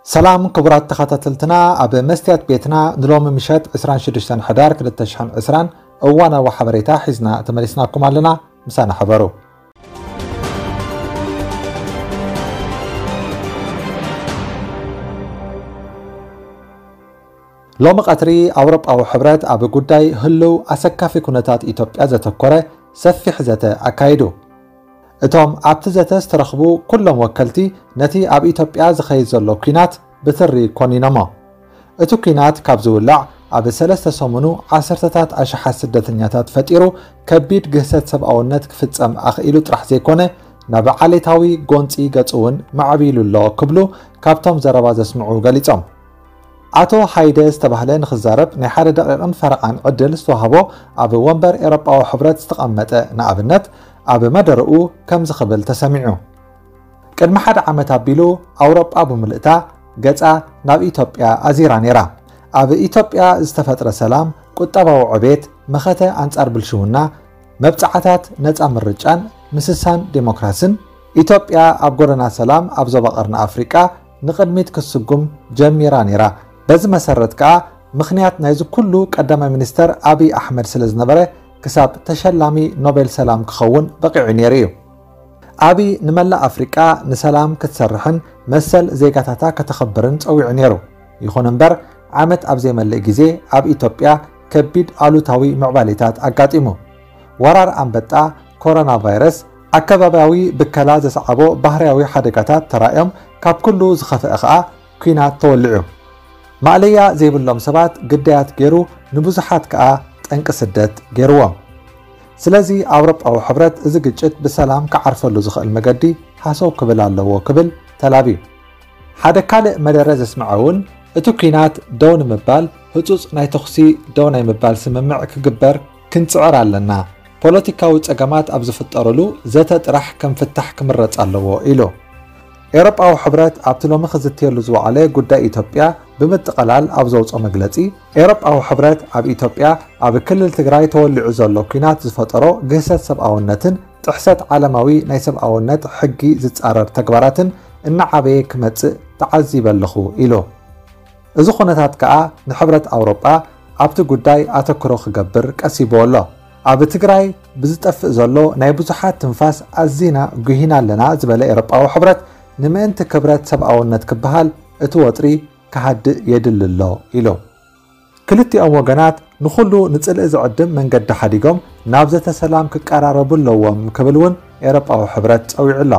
ሰላም ክቡራት ተኸታተልትና፣ ኣብ መስትያት ቤትና ንሎሚ ምሸት ዕስራን ሽዱሽተን ሕዳር ክልተ ሽሕን ዕስራን እዋናዊ ሓበሬታ ሒዝና ተመሊስናኩም ኣለና። ምሳና ሕበሩ። ሎሚ ቀትሪ ኣውሮጳዊ ሕብረት ኣብ ጉዳይ ህልው ኣሰካፊ ኩነታት ኢትዮጵያ ዘተኮረ ሰፊሕ ዘተ ኣካይዱ። እቶም ኣብቲ ዘተ ዝተረኽቡ ኩሎም ወከልቲ ነቲ ኣብ ኢትዮጵያ ዝኸይድ ዘሎ ኲናት ብትሪ ኮኒኖሞ። እቲ ኲናት ካብ ዝውላዕ ኣብ ሰለስተ ሰሙኑ ዓሰርተታት ኣሽሓት ስደተኛታት ፈጢሩ ከቢድ ግህሰት ሰብኣውነት ክፍጸም ኣኽኢሉ ጥራሕ ዘይኮነ ናብ ዓሌታዊ ጎንጺ ገጹ እውን ማዕቢሉ ኣሎ ክብሉ ካብቶም ዘረባ ዘስምዑ ገሊጾም። ኣቶ ሃይደ ዝተባህለ ንኽዛረብ ናይ ሓደ ደቂቕን ፈረቓን ዕድል ዝተዋህቦ ኣብ ወንበር ኤውሮጳዊ ሕብረት ዝተቐመጠ ንኣብነት ኣብ መደረኡ ከምዚ ክብል ተሰሚዑ። ቅድሚ ሓደ ዓመት ኣቢሉ ኣውሮጳ ብምልእታ ገጻ ናብ ኢትዮጵያ ኣዚራ ነይራ። ኣብ ኢትዮጵያ ዝተፈጥረ ሰላም፣ ቁጠባዊ ዕቤት፣ መኸተ ኣንጻር ብልሽውና፣ መብጽዓታት ነጻ ምርጫን ምስሳን ዴሞክራስን፣ ኢትዮጵያ ኣብ ጎደና ሰላም ኣብ ዞባ ቀርኒ ኣፍሪቃ ንቕድሚት ክትስጉም ጀሚራ ነይራ። በዚ መሰረት ከኣ ምኽንያት ናይዚ ኩሉ ቀዳማይ ሚኒስተር ኣብይ ኣሕመድ ስለ ዝነበረ ክሳብ ተሸላሚ ኖቤል ሰላም ክኸውን በቒዑ ነይሩ እዩ። ኣብይ ንመላእ ኣፍሪቃ ንሰላም ክትሰርሕን መሰል ዜጋታታ ከተኽብርን ጸዊዑ ነይሩ። ይኹን እምበር ዓመት ኣብ ዘይመልእ ግዜ ኣብ ኢትዮጵያ ከቢድ ኣሉታዊ ምዕባሌታት ኣጋጢሙ። ወራር ኣንበጣ፣ ኮሮና ቫይረስ፣ ኣከባብያዊ ብከላ ዘስዓቦ ባህርያዊ ሓደጋታት ተራእዮም፣ ካብ ኩሉ ዝኸፍአ ከኣ ኲናት ተወሊዑ። ማእለያ ዘይብሎም ሰባት ግዳያት ገይሩ፣ ንብዙሓት ከኣ ጠንቂ ስደት ገይርዎም። ስለዚ ኣውሮጳዊ ሕብረት እዚ ግጭት ብሰላም ክዓርፈሉ ዝኽእል መገዲ ሃሰው ክብል ኣለዎ ክብል ተላብዩ። ሓደ ካልእ መደረ ዘስምዐ እውን እቲ ኲናት ደው ንምባል ህጹጽ ናይ ተኹሲ ደው ናይ ምባል ስምምዕ ክግበር ክንጽዕር ኣለና። ፖለቲካዊ ጸገማት ኣብ ዝፍጠሩሉ ዘተ ጥራሕ ከም ፍታሕ ክምረጽ ኣለዎ ኢሉ። ኤውሮጳዊ ሕብረት ኣብቲ ሎሚ ክዝትየሉ ዝወዓለ ጉዳይ ኢትዮጵያ ብምጥቕላል ኣብ ዘውፅኦ መግለጺ፣ ኤውሮጳዊ ሕብረት ኣብ ኢትዮጵያ ኣብ ክልል ትግራይ ተወሊዑ ዘሎ ኲናት ዝፈጠሮ ግህሰት ሰብኣውነትን ጥሕሰት ዓለማዊ ናይ ሰብኣውነት ሕጊ ዝጻረር ተግባራትን እናዓበየ ክመጽእ ተዓዚበ ኣለኹ ኢሉ። እዚ ኩነታት ከኣ ንሕብረት ኣውሮጳ ኣብቲ ጉዳይ ኣተክሮ ክገብር ቀሲብዎ ኣሎ። ኣብ ትግራይ ብዝጠፍእ ዘሎ ናይ ብዙሓት ትንፋስ ኣዚና ጉሂና ኣለና ዝበለ ኤውሮጳዊ ሕብረት፣ ንምእንቲ ክብረት ሰብኣውነት ክበሃል እቲ ወጥሪ ክሃድእ የድሊ ኣሎ ኢሉ። ክልቲኦም ወገናት ንኹሉ ንጽልኢ ዝዕድም መንገዲ ሓዲጎም ናብ ዘተ ሰላም ክቀራረቡ ኣለዎም ክብል እውን ኤውሮጳዊ ሕብረት ጸዊዑ ኣሎ።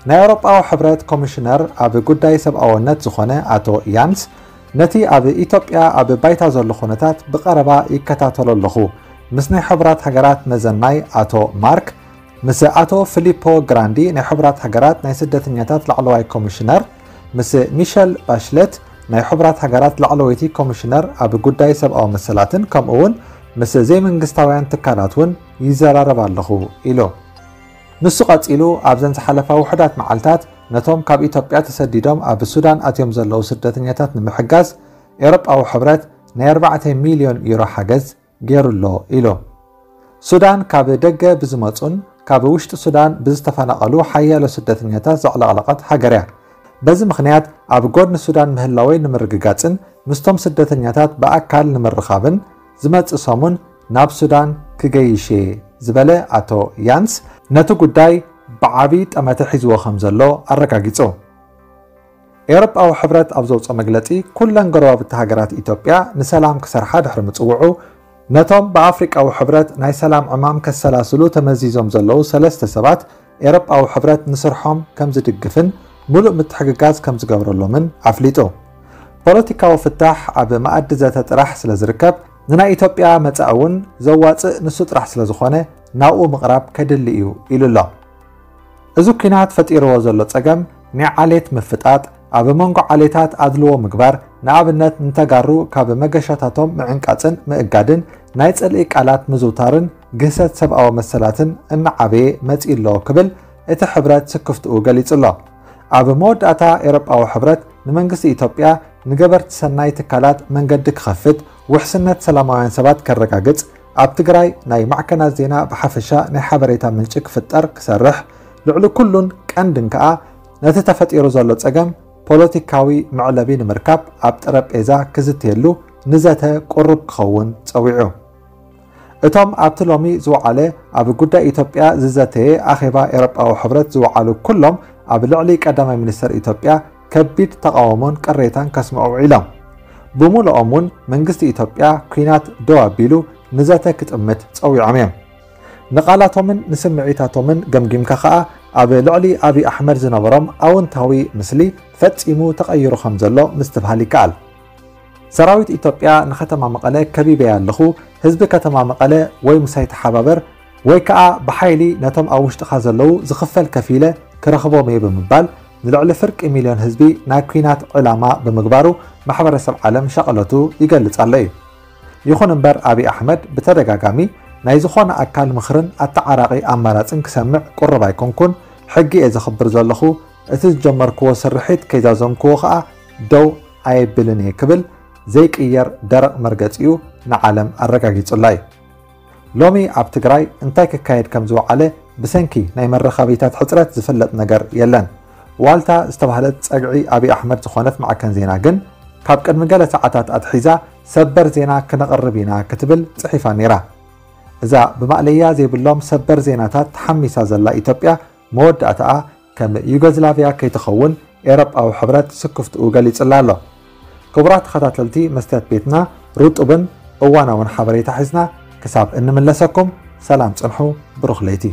ናይ ኤውሮጳዊ ሕብረት ኮሚሽነር ኣብ ጉዳይ ሰብኣውነት ዝኾነ ኣቶ ያንስ፣ ነቲ ኣብ ኢትዮጵያ ኣብ ባይታ ዘሎ ኩነታት ብቐረባ ይከታተሎ ኣለኹ። ምስ ናይ ሕቡራት ሃገራት መዘናይ ኣቶ ማርክ፣ ምስ ኣቶ ፊሊፖ ግራንዲ ናይ ሕቡራት ሃገራት ናይ ስደተኛታት ላዕለዋይ ኮሚሽነር፣ ምስ ሚሸል ባሽለት ናይ ሕቡራት ሃገራት ላዕለወይቲ ኮሚሽነር ኣብ ጉዳይ ሰብኣዊ መሰላትን ከምኡ እውን ምስ ዘይመንግስታውያን ትካላት እውን ይዘራረብ ኣለኹ ኢሉ። ንሱ ቀጺሉ ኣብዘን ዝሓለፋ ውሑዳት መዓልታት ነቶም ካብ ኢትዮጵያ ተሰዲዶም ኣብ ሱዳን ኣትዮም ዘለዉ ስደተኛታት ንምሕጋዝ ኤውሮጳዊ ሕብረት ናይ ኣርባዕተ ሚልዮን ዩሮ ሓገዝ ገይሩ ኣሎ ኢሉ። ሱዳን ካብ ደገ ብዝመጹን ካብ ውሽጢ ሱዳን ብዝተፈናቐሉ ሓያሎ ስደተኛታት ዘዕለቕለቐት ሃገር እያ። በዚ ምኽንያት ኣብ ጎድኒ ሱዳን ምህላወይ ንምርግጋጽን ምስቶም ስደተኛታት ብኣካል ንምርኻብን ዝመጽእ ሰሙን ናብ ሱዳን ክገይሽ እየ ዝበለ ኣቶ ያንስ ነቲ ጉዳይ ብዓቢ ጠመተ ሒዝዎ ከም ዘሎ ኣረጋጊጹ። ኤውሮጳዊ ሕብረት ኣብ ዘውፅኦ መግለፂ፣ ኩለን ጎረባብቲ ሃገራት ኢትዮጵያ ንሰላም ክሰርሓ ድሕሪ ምፅውዑ፣ ነቶም ብኣፍሪቃዊ ሕብረት ናይ ሰላም ዕማም ከሰላስሉ ተመዚዞም ዘለዉ ሰለስተ ሰባት ኤውሮጳዊ ሕብረት ንስርሖም ከም ዝድግፍን ምሉእ ምትሕግጋዝ ከም ዝገብረሎምን ኣፍሊጡ። ፖለቲካዊ ፍታሕ ኣብ መኣዲ ዘተ ጥራሕ ስለ ዝርከብ፣ ንናይ ኢትዮጵያ መጻኢ እውን ዘዋጽእ ንሱ ጥራሕ ስለ ዝኾነ፣ ናብኡ ምቕራብ ከድሊ እዩ ኢሉ ኣሎ። እዚ ኲናት ፈጢርዎ ዘሎ ጸገም፣ ናይ ዓሌት ምፍጣጥ፣ ኣብ መንጎ ዓሌታት ኣድልዎ ምግባር፣ ንኣብነት ንተጋሩ ካብ መገሻታቶም ምዕንቃጽን ምእጋድን፣ ናይ ጽልኢ ቃላት ምዝውታርን ግህሰት ሰብኣዊ መሰላትን እናዓበየ መጺኡ ኣሎ ክብል እቲ ሕብረት ስክፍትኡ ገሊጹ ኣሎ። ኣብ መወዳእታ ኤውሮጳዊ ሕብረት ንመንግስቲ ኢትዮጵያ ንገበርቲ ሰናይ ትካላት መንገዲ ክኸፍት፣ ውሕስነት ሰላማውያን ሰባት ከረጋግጽ፣ ኣብ ትግራይ ናይ ማዕከናት ዜና ብሓፈሻ ናይ ሓበሬታ ምንጪ ክፍጠር ክሰርሕ፣ ልዕሊ ኩሉን ቀንድን ከኣ ነቲ ተፈጢሩ ዘሎ ጸገም ፖለቲካዊ መዕለቢ ንምርካብ ኣብ ጠረጴዛ ክዝትየሉ ንዘተ ቅሩብ ክኸውን ጸዊዑ። እቶም ኣብቲ ሎሚ ዝወዓለ ኣብ ጉዳይ ኢትዮጵያ ዝዘተየ ኣኼባ ኤውሮጳዊ ሕብረት ዝወዓሉ ኩሎም ኣብ ልዕሊ ቀዳማይ ሚኒስተር ኢትዮጵያ ከቢድ ተቓውሞን ቅሬታን ከስምዑ ውዒሎም። ብምሉኦም እውን መንግስቲ ኢትዮጵያ ኲናት ደው ኣቢሉ ንዘተ ክጥምት ጸዊዖም እዮም። ንቓላቶምን ንስምዒታቶምን ገምጊምካ ከኣ ኣብ ልዕሊ ኣብይ ኣሕመድ ዝነበሮም ኣውንታዊ ምስሊ ፈጺሙ ተቐይሩ ከም ዘሎ ምስትብሃል ይከኣል። ሰራዊት ኢትዮጵያ ንከተማ መቐለ ከቢበያ ኣለኹ፣ ህዝቢ ከተማ መቐለ ወይ ምሳይ ተሓባበር ወይ ከኣ ብሓይሊ ነቶም ኣብ ውሽጥኻ ዘለዉ ዝኽፈል ከፊለ ክረኽቦም እየ ብምባል ንልዕሊ ፍርቂ ሚልዮን ህዝቢ ናይ ኲናት ዕላማ ብምግባሩ ማሕበረሰብ ዓለም ሻቕለቱ ይገልጽ ኣሎ እዩ። ይኹን እምበር ኣብይ ኣሕመድ ብተደጋጋሚ ናይ ዝኾነ ኣካል ምኽርን ኣተዓራቒ ኣማራጽን ክሰምዕ ቅሩብ ኣይኮንኩን፣ ሕጊ እየ ዘኽብር ዘለኹ፣ እቲ ዝጀመርክዎ ስርሒት ከይዛዘምክዎ ከኣ ደው ኣየብልን እየ ክብል ዘይቅየር ደረቕ መርገጺኡ ንዓለም ኣረጋጊጹላ እዩ። ሎሚ ኣብ ትግራይ እንታይ ክካየድ ከም ዝወዓለ ብሰንኪ ናይ መራኸቢታት ሕጽረት ዝፍለጥ ነገር የለን። ዋልታ ዝተባህለት ጸግዒ ኣብይ ኣሕመድ ዝኾነት ማዕከን ዜና ግን ካብ ቅድሚ ገለ ሰዓታት ኣትሒዛ ሰበር ዜና ክነቕርብ ኢና ክትብል ጽሒፋ ነይራ። እዛ ብማእለያ ዘይብሎም ሰበር ዜናታት ተሓሚሳ ዘላ ኢትዮጵያ መወዳእታኣ ከም ዩጎዝላቭያ ከይትኸውን ኤውሮጳዊ ሕብረት ስክፍትኡ ገሊጹላ ኣሎ። ክቡራት ተኸታተልቲ መስትያት ቤትና ርጡብን እዋናውን ሓበሬታ ሒዝና ክሳብ እንምለሰኩም ሰላም ጽንሑ፣ ብሩኽ ለይቲ።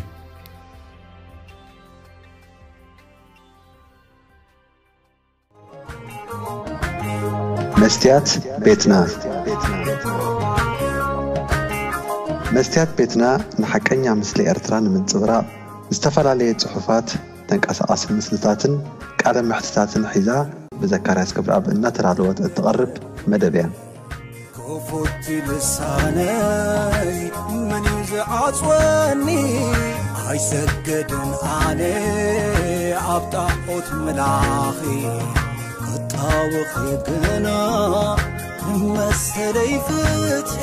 መስትያት ቤትና መስትያት ቤትና ንሓቀኛ ምስሊ ኤርትራ ንምንጽብራቕ ዝተፈላለየ ጽሑፋት፣ ተንቀሳቓሲ ምስልታትን ቃለ መሕትታትን ሒዛ ብዘካርያስ ገብረኣብ እናተዳለወት እትቐርብ መደብ እያ። ክፉት ልሳነይ መን እዩ ዝዓጽወኒ? ኣይሰገድን ኣነ ኣብ ጣዖት ምላኺ ክጣወኺ ግና መሰለይ ፍትሒ